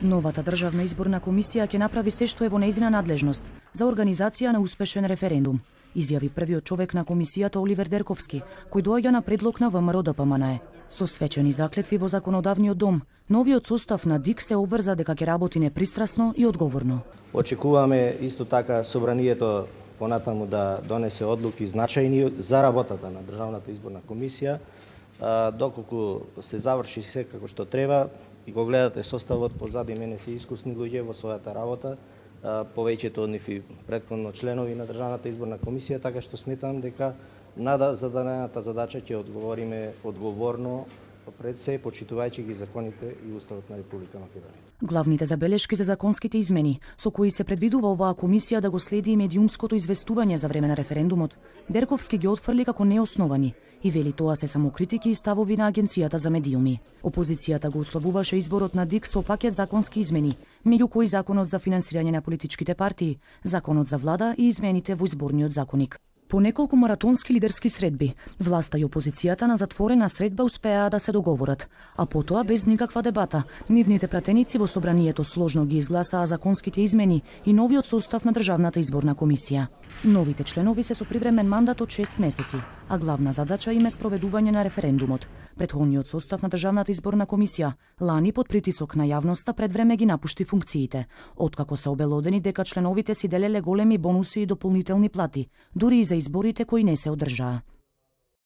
Новата државна изборна комисија ќе направи се што е во нејзина надлежност за организација на успешен референдум, изјави првиот човек на комисијата Оливер Дерковски, кој доаѓа на предлог на ВМРО-ДПМНЕ. Со свечени заклетви во законодавниот дом, новиот состав на ДИК се обврза дека ќе работи непристрасно и одговорно. Очекуваме исто така собранието понатаму да донесе одлуки значајни за работата на државната изборна комисија, доколку се заврши се како што треба и го гледате составот позади мене се искусни луѓе во својата работа, повеќето од нив и претходно членови на државната изборна комисија, така што сметам дека зададената задача ќе одговориме одговорно пред се, почитувајќи ги законите и Уставот на Република Македонија. Главните забелешки за законските измени, со кои се предвидува оваа комисија да го следи и медиумското известување за време на референдумот, Дерковски ги отфрли како неосновани и вели тоа се само критики и ставови на Агенцијата за медиуми. Опозицијата го условуваше изборот на ДИК со пакет законски измени, меѓу кои законот за финансирање на политичките партии, законот за влада и измените во изборниот законник. По неколку маратонски лидерски средби, власта и опозицијата на затворена средба успеаа да се договорат, а потоа без никаква дебата, нивните пратеници во собранието сложно ги изгласаа законските измени и новиот состав на државната изборна комисија. Новите членови се со привремен мандат од 6 месеци, а главна задача им е спроведување на референдумот. Претходниот состав на државната изборна комисија лани под притисок на јавноста пред време ги напушти функциите, откако се обелодени дека членовите си делеле големи бонуси и дополнителни плати, дури и за изборите кои не се одржаа.